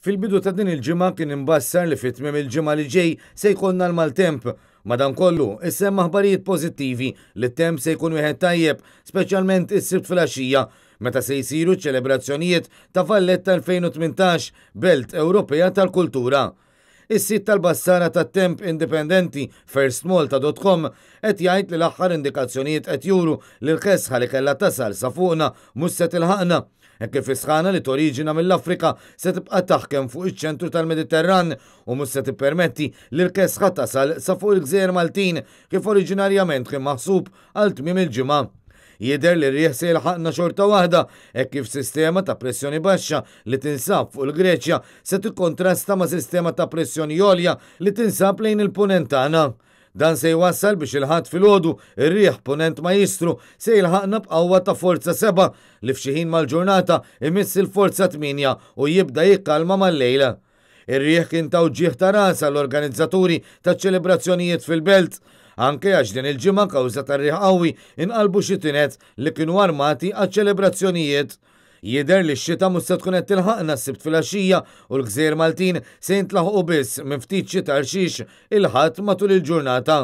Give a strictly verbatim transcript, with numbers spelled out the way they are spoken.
Fil-bidu ta' din il-ġimgħa kien imbassar li fi tmiem il-ġimgħa li ġej se jkollna l-maltemp. Madankollu, issemma aħbarijiet pożittivi li t-temp se jkun wieħed tajjeb, speċjalment is-Sibt filgħaxija, meta se jsiru ċelebrazzjonijiet ta' Valletta elfejn u tmintax, Belt Ewropea tal-Kultura. Is-sit tal-bassara tat-temp indipendenti firstmalta dot com qed jgħid li l-aħħar indikazzjonijiet qed juru li l-kesħa li kellha tasal sa fuqna mhux se tilħaqna, hekk kif is-sħana li toriġina mill-Afrika se tibqa' taħkem fuq iċ-ċentru tal-Mediterran u mhux se tippermetti li l-kesħa tasal sa fuq il-Gżejjer Maltin kif oriġinarjament kien maħsub għal tmiem il-ġimgħa. Jidher li r-riħ se jilħaqna xorta waħda, hekk kif sistema ta' pressjoni baxxa li tinsab fuq il-Greċja se tikkontrasta ma' sistema ta' pressjoni għolja li tinsab lejn il-punent tagħna. Dan se jwassal biex il-Ħadd filgħodu ir-riħ punent majjistru se jilħaqna b'qawwa ta' forza seba' li f'xi ħin mal-ġurnata imiss il-forza tmienja u jibda jikkalma mal-lejl. Ir-riħ kien ta' uġigħ ta' ras għall-organizzaturi taċ-ċelebrazzjonijiet fil-belt, anke għax din il-ġimgħa kawża tar-riħ qawwi inqalbu xi tinet li kienu armati għaċ-ċelebrazzjonijiet. Jidher li x-xita mhux se tkun qed tilħaqna s-Sibt filgħaxija u l-Gżejjer Maltin se jintlaħqu biss minn ftit xita rxix il-Ħadd matul il-ġurnata.